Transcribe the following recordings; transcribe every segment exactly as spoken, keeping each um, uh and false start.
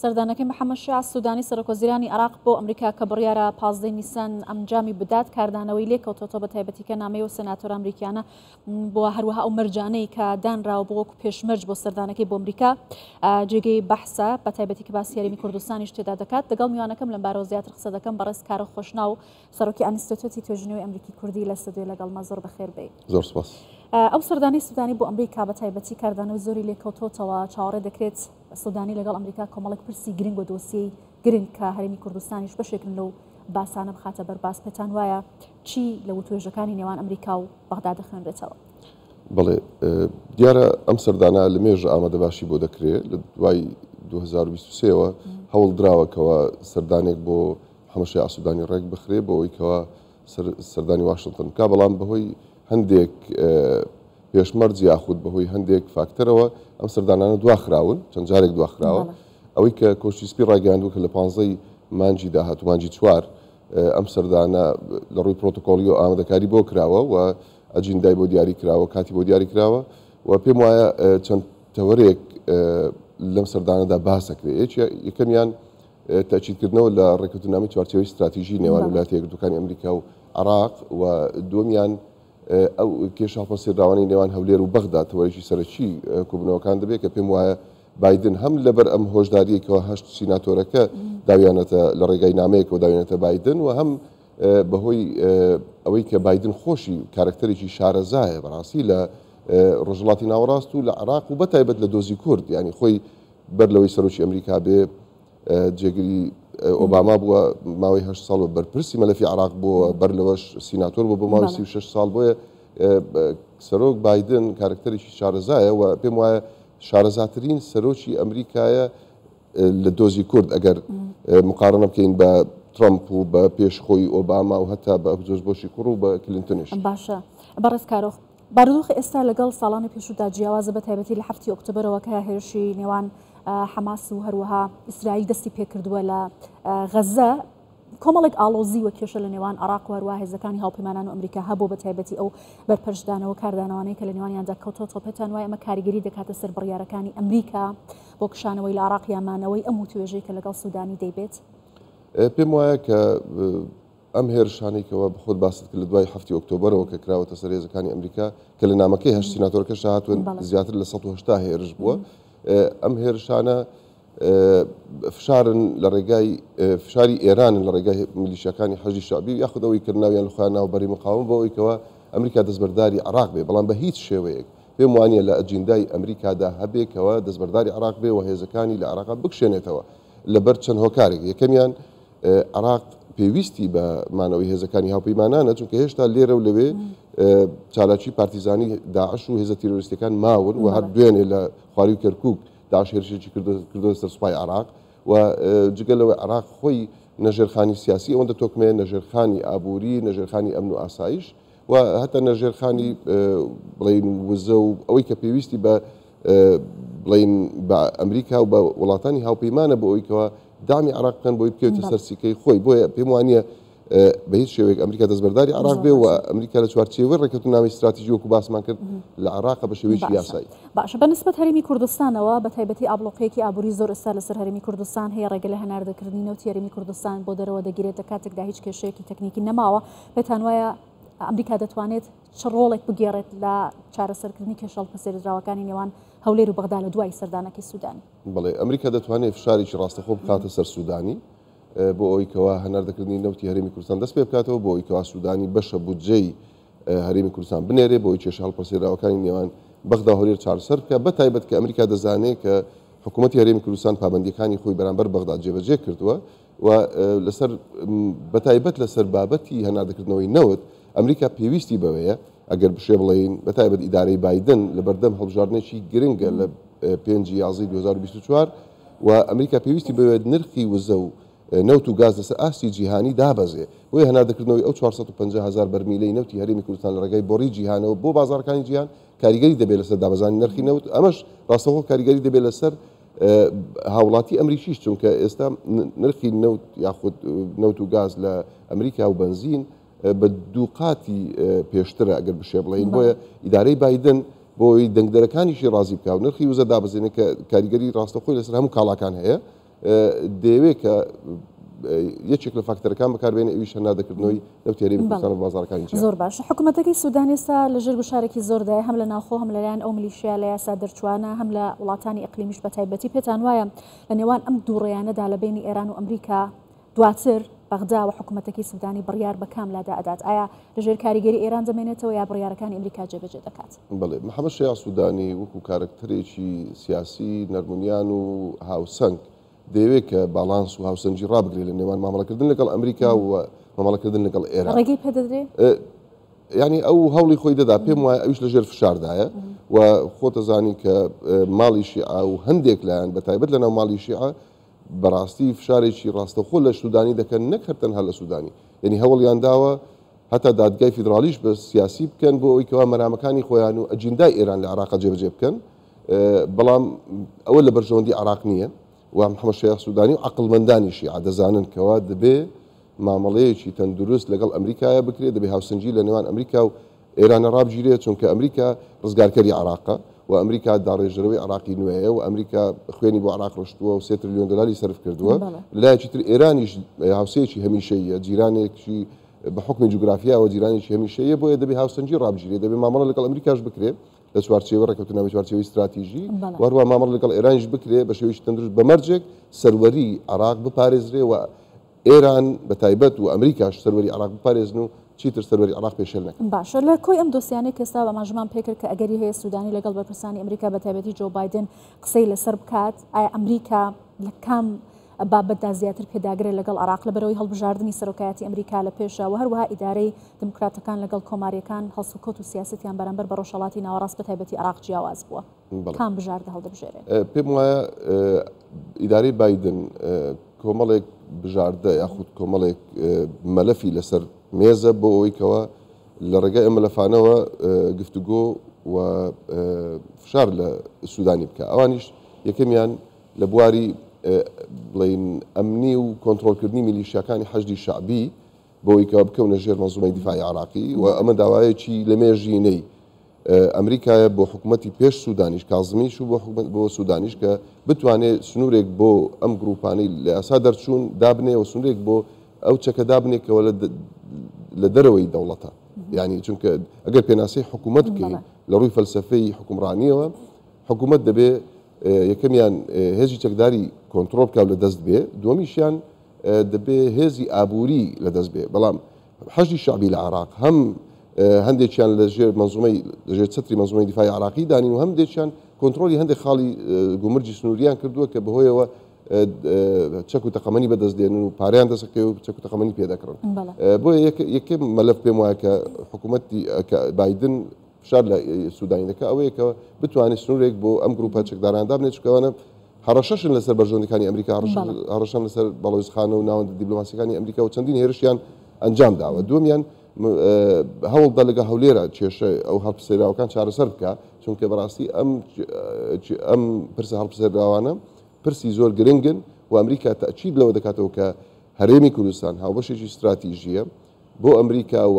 سەردانەکەی محەممەد شیاع سوودانی سەرۆکوەزیرانی عێراق بۆ ئەمریکا کە بڕیارە پازدەی نیسان ئەنجامی بدات کاردانەوەی لێکەوتۆتەوە بە تایبەتی کە نامەی و سێناتۆر ئەمریکیانە بۆ هەروەها ئەو مەرجانەی کە دانراوە بۆ وەکو پێشمەرج بۆ سەردانەکەی بۆ ئەمریکا جێگەی بەحسە بە تایبەتی کە باسی هەرێمی کوردستانیش تێدا دەکات. لەگەڵ میوانەکەم لەمبارەوە زیاتر قسە دەکەم. بەڕێز کارۆ خۆشناو سەرۆکی ئەنستیتۆتی توێژینەوەی ئەمریکی کوردی لە ستۆدیۆ لەگەڵما، زۆر بەخێر بێی. زۆر سپاس. ئەو سەردانەی سوودانی بۆ ئەمریکا بە تایبەتی کاردانەوەی زۆری لێکەوتۆتەوە، چاوەڕێ دەکرێت سوودانی لەگەڵ ئەمریکا کۆمەڵێک پرسی گرنگ و دۆسیەی گرنگ کە هەرێمی کوردستانیش بەشێکن لەو باسانە بخاتە بەرباس. پێتان وایە چی لە وتوێژەکانی نێوان ئەمریکا و بەغدا دەخوێنرێتەوە؟ بەڵێ، دیارە ئەم سەردانە لە مێژ ئامادەباشی بۆ دەکرێت. لە دوای دوو هەزار و بیست و سێوە هەوڵ دراوەکەوە سەردانێک بۆ محەممەد شیاع سوودانی ڕێک بخرێ بۆ ئەوەی کەوا سەردانی واشنگتن بکا، بەڵام بەهۆی هەندێک پێشمەرج یاخود بەهۆی هەندێک فاکتەرەوە ئەم سەردانانە دواخراون، چەند جارێک دواخراوە. ئەوەی کە کۆشکی سپی ڕایگەیاندووە کە لە پانزەی مانجی داهاتوو، مانجی چوار، ئەم سەردانە لە ڕووی پرۆتۆکۆلی و ئامادەکاری بۆ کراوە و ئەجیندای بۆ دیاری کراوە، کاتی بۆ دیاری کراوە و پێم وایە چەند تەوەرێک لەم سەردانەدا باسەکرێت. یەکەمیان تەئکیدکردنەوە لە ڕێککەوتنامەی چوارچێوەی استراتیژی نێوان ویلایەتە یەکگرتووەکانی ئەمریکا و عێراق و دووەمیان ئەو کێشە هەڵپەسێردراوانەی نێوان هەولێر و بەغدا تەوەرێکی سەرەکی کۆبوونەوەکان دەبێت کە پێم وایە بایدن هەم لەبەر ئەم هۆشداریەکەوە هەشت سیناتۆرەکە داویانەتە لە ڕێگای نامەیەکەوە داویانەتە بایدن و هەم بەهۆی ئەوەی کە بایدن خۆشی کارکتەرێکی شارەزایە بەڕاستی لە ڕۆژهەڵاتی ناوەڕاست و لە عێراق و بەتایبەت لە دۆزی کورد، یعنی خۆی بەر لەوەی سەرۆکی ئەمریکا بێ جێگری ئۆباما بووە ماوەی هەشت ساڵ بەرپرسی مەلەفی عێراق بووە، بەر لەوەش سیناتۆر بوو بۆ ماوەی سی و شەش ساڵ. بۆیە سەرۆک بایدن کارکتەرێکی شارەزایە و پێم وایە شارەزاترین سەرۆکی ئەمریکایە لە دۆزی کورد ئەگەر مقارنە بکەین بە ترامپ و بە پێشخۆی ئۆباما و هەتا بە جۆرج بۆشی کوڕ و بە کلینتۆنیش. باشە بەڕێز کارۆخ، بارودۆخی ئێستا لەگەڵ ساڵانی پێشوودا جیاوازە بە تایبەتی لە هەفتی ئۆکتۆبەرەوە کە هێرشی نێوان حەماس و هەروەها ئیسرائیل دەستی پێکردووە لە غەزە، کۆمەڵێک ئاڵۆزی و کێشە لە نێوان عێراق و هەروەها هێزەکانی هاوپەیمانان و ئەمریکا هەبوو بە تایبەتی ئەو بەرپەرچدانەوە کاردانەوانەی کە لە نێوانیاندا کەوتۆتەوە. پێتان وایە ئەمە کاریگەری دەکاتە سەر بڕیارەکانی ئەمریکا بۆ کشانەوەی لە عێراق یا مانەوەی ئەم وتوێژەی کە لەگەڵ سوودانی دەیبێت؟ پێم وایە کە ئەم هێرشانەی کەەوە بەخۆت باست کرد لە دوای هەفتی ئۆکتۆبەرەوە کە کراوەتە سەر هێزەکانی ئەمریکا کە لە نامەکەی هەشت سیناتۆرەکەش هاتوون زیاتر لە سەد و هەشتا هێرش بووە. ئەم هێرشانە فشارن لە ڕێگای فشاری ئێرانن لە ڕێگای میلیشیاکانی حەشدی شەعبی یاخود ئەوەی کردناویان لە خۆیان ناوبەری مقاوم بۆ ئەوەی کەەوە ئەمریکا دەستبەرداری عێراق بێ، بەڵام بە هیچ شێوەیەک پێم وانییە لە ئەجیندای ئەمریکادا هەبێکەوە دەستبەرداری عێراق بێ و هێزەکانی لە عێراق بکشێنێتەوە لەبەر چەند هۆکارێک. یەکەمیان عێراق پێویستی بە مانەوەی هێزەکانی هاوپەیمانانە، چونکە هێشتا لێرە و لەوێ چالاکی پارتیزانی داعش و هێزە تیرۆریستەکان ماون و هەر دوێنێ لە خواری و کەرکووک داعش هێرشێکی کردووە سەر سوپای عێراق و جگە لەوەی عێراق خۆی نەژێرخانی سیاسی ئەوەندە تۆکمەیە، نەژێرخانی ئابووری، نەژێرخانی ئەمن و ئاسایش و هەتا نەژێرخانی بڵین وزە و ئەوەی کە پێویستی بە بڵین بە ئەمریکا و بە وڵاتانی هاوپەیمانە بۆ ئەوەی کەەوە دامی عێراق بکەن بۆی بکەوێتە سەر سیکەی خۆی. بۆیە پێم وانییە بە هیچ شێوەیەک ئەمریکا دەستبەرداری عێراق بێ و ئەمریکا لە چوارچێوەی ڕێککەوتنامەی استراتیژی وەکو باسمان کرد لە عێراق بە شێوەیەکی یاسایی. باشە بە نسبەت هەرێمی کوردستانەوە بە تایبەتی ئابلۆقەیەکی ئابووری زۆر ئێستا لەسەر هەرێمی کوردستان هەیە، ڕێگە لە هەناردەکردنی نەوتی هەرێمی کوردستان بۆ دەرەوە دەگیرێت لە کاتێکدا هیچ کێشەیەکی تەکنیکی نەماوە. پێتان وایە ئەمریکا دەتوانێت چ ڕۆڵێک بگێڕێت لە چارەسەرکردنی کێشە هەڵپەسێردراوەکانی نێوان هەولێر و بەغدا لە دوای سەردانەکەی سوودانی؟ بەڵێ، ئەمریکا دەتوانێت فشارێکی ڕاستەخۆ بخاتە سەر سوودانی بۆ ئەوەی کەوا هەناردەکردنی نەوتی هەرێمی کوردستان دەست پێ بکاتەوە، بۆ ئەوەی کەوا سوودانی بەشە بودجەی هەرێمی کوردستان بنێرێ، بۆ ئەوەی کێشە هەڵپەسێراوەکانی نێوان بەغدا و هەولێر چارەسەر بکە، بە تایبەت کە ئەمریکا دەزانێت کە حکوومەتی هەرێمی کوردستان پابندیەکانی خۆی بەرامبەر بەغدا جێبەجێ کردووە و لەسەر بە تایبەت لەسەر بابەتی هەناردەکردنەوەی نەوت ئەمریکا پێویستی بەوەیە ئەگەر بشێ بڵێین بە تایبەت ئیدارەی بایدن لە بەردەم هەڵبژاردنێکی گرنگە لە پێنجی یازدەی دوو هەزار و بیست و چوار و ئەمریکا پێویستی بەوێت نرخی وزە و نەوت و گاز لەسەر ئاستی جیهانی دابەزێ. بۆیە هەناردەکردنەوەی ئەو چوار سەد و پەنجا هەزار بەرمیلەی نەوتی هەرێمی کوردستان لە ڕێگای بۆڕی جیهانەوە بۆ بازارەکانی جیهان کاریگەری دەبێت لەسەر دابەزانی نرخی نەوت، ئەمەش ڕاستەوخۆ کاریگەری دەبێت لەسەر هاوڵاتی ئەمریکیش، چونکە ئێستا نرخی نەوت یاخود نەوت و گاز لە ئەمریکا و بەنزین بە دوو قاتی پێشترە ئەگەر بشێ بڵێین. بۆیە ئیدارەی بایدن بۆی دەنگدەرەکانیشی ڕازی بکە و نرخی وزە دابەزێنێت کە کاریگەری ڕاستەوخۆی لەسەر هەموو کاڵاکان هەیە، دەیەوێت کە یەکێک لە فاکتەرەکان بەکاربێنێ ئەویش هەناردەکردنەوەی نەوتی هەرێمی کوردستان بە بازاڕەکانی جیهان. زۆر باشە. حکوومەتەکەی سوودان ئێستا لەژێر گوشارێکی زۆردایە، هەم لە ناوخۆ هەم لەلایەن ئەو میلیشیا لە یاسا دەرچوانە، هەم لە وڵاتانی ئەقلیمیش بە تایبەتی. پێتان وایە لە نێوان ئەم دوو ڕێیانەدا لە بینی ئێران و ئەمریکا دواتر بەغدا و حکوومەتەکەی سوودانی بڕیار بە کام لادا ئەدات؟ ئایا لەژێر کاریگەری ئێران دەمێنێتەوە یا بڕیارەکانی ئەمریکا جێبەجێ دەکات؟ بەڵێ، محەممەد شیاع سوودانی وەکو کارەکتەرێکی سیاسی نەرمونیان و هاوسەنگ دەیەوێت کە باڵانس و هاوسەنگی ڕابگرێت لە نێوان مامەڵەکردن لەگەڵ ئەمریکا و مامەڵەکردن لەگەڵ ئێران. ڕێگەی پێدەدرێ؟ یعنی ئەو هەوڵی خۆی دەدا، پێم وایە ئەویش لەژێر فشاردایە و خۆتەزانی کە ماڵی شیعە و هەندێک لایەن بە تایبەت لەناو ماڵی شیعە بەڕاستی فشارێکی ڕاستەوخۆ لە سوودانی دەکەن، نەک هەر تەنها لە سوودانی، یعنی هەوڵیان داوە هەتا دادگای فیدراڵیش بە سیاسی بکەن بۆ ئەوەی کەوا مەرامەکانی خۆیان و ئەجیندای ئێران لە عێراق جێبەجێ بکەن، بەڵام ئەوە لە بەرژەوەندی عێراق نییە و محەممەد شیاع سوودانی و عەقڵمەندانی شیعە دەزانن کەوا دەبێ مامەڵەیەکی تەندروست لەگەڵ ئەمریکایە بکرێت، دەبێ هاوسەنگی لە نێوان ئەمریکا و ئێرانە ڕابگیرێت، چونکە ئەمریکا ڕزگارکەری عێراقە و ئەمریکا داڕێژەرەوەی عێراقی نوێیە و ئەمریکا خوێنی بۆ عێراق ڕشتووە و سێ تریلیۆن دۆلاری سەرف کردووە. لەلایەکی تر ئێرانیش هاوسەیەکی هەمیشەیە، جیرانێکی بە حوکمی جوگرافیاوە جیرانێکی هەمیشەیە، بۆیە دەبێ هاوسەنگی ڕابگیرێت، دەبێ مامەڵە لەگەڵ ئەمریکاش بکرێت لە چوارچێوە ڕێککەوتنامەی چوارچێوەی استراتیژی، و هەروەها مامەڵە لەگەڵ ئێرانیش بکرێت بە شێوەیەکی تەندروست بە مەرجێک سەروەری عێراق بپارێزرێ و ئێران بە تایبەت و ئەمریکاش سەروەری عێراق بپارێزن و چیتر سەروەری عێراق پێشێل نەکەن. باشە، لە کۆی ئەم دۆسیانەی کە ئێستا ئاماژەمان پێکرد کە ئەگەری هەیە سوودانی لەگەڵ بەرپرسانی ئەمریکا بە تایبەتی جۆ بایدن قسەی لەسەر بکات، ئایا ئەمریکا لە کام بابەتدا زیاتر پێداگرە لەگەڵ عێراق لەبەرەوەی هەڵبژاردنی سەرۆکایەتی ئەمریکا لە پێشە و هەروەها ئیدارەی دموکراتەکان لەگەڵ کۆماریەکان هەڵسوکەوت و سیاسەتیان بەرامبەر بە ڕۆژهەڵاتی ناوەڕاست بە تایبەتی عێراق جیاواز بووە؟ کام بژاردە هەڵدەبژێرێت؟ پێم وایە ئیدارەی بایدن کۆمەڵێک بژاردە یاخود کۆمەڵێک مەلەفی لەسەر مێزە بۆ ئەوەی کەەوە لە ڕێگای ئەم مەلەفانەوە گفتوگۆ و فشار لە سوودانی بکە. ئەوانیش یەکەمیان لە بواری بڵین ئەمنی و کۆنترۆڵکردنی میلیشیاکانی حەشدی شەعبی بۆ ئەوەی کەەوە بکەونە ژێر مەنزومەی دیفاعی عێراقی و ئەمە داوایەکی لە مێژینەی ئەمریکایە بۆ حکوومەتی پێش سوودانیش کازمیش و بۆ حکوومەت بۆ سوودانیش کە بتوانێت سنوورێک بۆ ئەم گروپانەی لە یاسا دەرچوون دابنێ و سنوورێک بۆ ئەو چەکە دابنێکەوە لە دەرەوەی دەوڵەتە. یعنی چونکە ئەگەر پێناسەی حکوومەت بکەین لە ڕووی فەلسەفەی حکومڕانیەوە، حکوومەت دەبێ یەکەمیان هێزی چەکداری کۆنترۆڵ بکات لە دەست بێ، دووەمیشیان دەبێ هێزی ئابووری لە دەست بێ. بەڵام حەشدی شەعبی لە عێراق هەم هەندێکیان لەژێر منزومەی لەژێر چەتری منزومەی دیفاعی عێراقی دانین و هەندێکیان کۆنترۆڵی هەندێک خاڵی گومرگی سنووریان کردووە کە بەهۆیەوە چەک و تەقەمەنی بەدەست دێنن و پارەیان دەستەکەوێت و چەک و تەقەمەنی پێدەکڕن. بۆیە یەکەم مەلەف پێم وایە کە حکوومەتی کە بایدن فشار لە سوودانی دەکات ئەوەیە کە بتوانێت سنوورێک بۆ ئەم گروپە چەکداران دابنێت، چونکە ئەوانە هەڕەشەشن لەسەر بەرژەوەندیەکانی ئەمریکا، هەڕەشەن لەسەر باڵیۆزخانە و ناوەندە دیپلۆماسیەکانی ئەمریکا و چەندین هێرشیان ئەنجام داوە. دووەمیان هەوڵدا لەگە هەولێرە کێشە ئەو هەڵپسێراوەکان چارەسەر بکە، چونکە بەڕاستی ئەم ئەم پرسە هەڵپسێراوانە پرسی زۆر گرنگن و ئەمریکا تەئکید لەوە دەکاتەوە کە هەرێمی کوردستان هاوبەشێکی استراتیژیە بۆ ئەمریکا و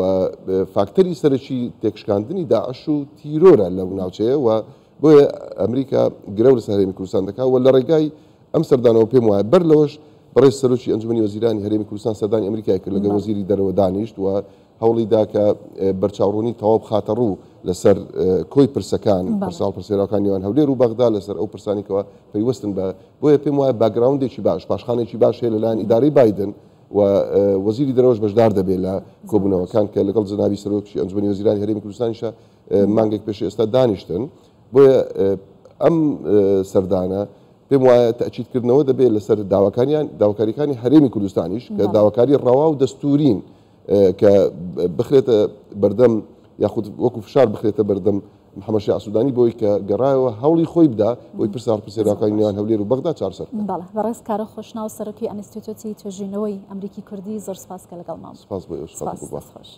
فاکتەری سەرەکی تێکشکاندنی داعش و تیرۆرە لەو ناوچەیە و بۆیە ئەمریکا گرەو لەسەر هەرێمی کوردستان دەکات و لە ڕێگای ئەم سەردانەوە پێم وایە بەر لەوەش بەڕێز سەرۆکی ئەنجومەنی وەزیرانی هەرێمی کوردستان سەردانی ئەمریکای کرد لەگەڵ وەزیری دەرەوە دانیشت و هەوڵی دا کە بەرچاوڕوونی تەواو بخاتە ڕوو لەسەر کۆی پرسەکان، پرسە هەڵپرسێراوەکان نێوان هەولێر و بەغدا لەسەر ئەو پرسانێکەوە پەیوەستن بە بۆیە پێم وایە باکگراوندێکی باش، پاشخانێکی باش هەیە لەلایەن ئیدارەی بایدن و وەزیری دەرەوەش بەشدار دەبێت لە کۆبوونەوەکان کە لەگەڵ جەنابی سەرۆکی ئەنجومەنی وەزیرانی هەرێمی کوردستانیشە مانگێک پێش ئێستا دانیشتن. بۆیە ئەم سەردانە پێم وایە تەئکیدکردنەوە دەبێت لەسەر داواکاریان داواکاریەکانی هەرێمی کوردستانیش کە داواکاری ڕەوا و دەستورین کە بخرێتە بەردەم یاخود وەکو فشار بخرێتە بەردەم محەممەد شیاع سوودانی بۆی کە گەڕایەوە هەوڵی خۆی بدا بۆی پرسە هەڵپرسێراوەکانی نێوان هەولێر و بەغدا چارەسەر بکات. بەڵێ، بەڕێز کارۆ خۆشناو سەرۆکی ئەنستیتۆتی توێژینەوەی ئەمریکی کوردی، زۆر سپاس کە لەگەڵمان. سپاس بۆ ئێوە، سپاس. سپاس.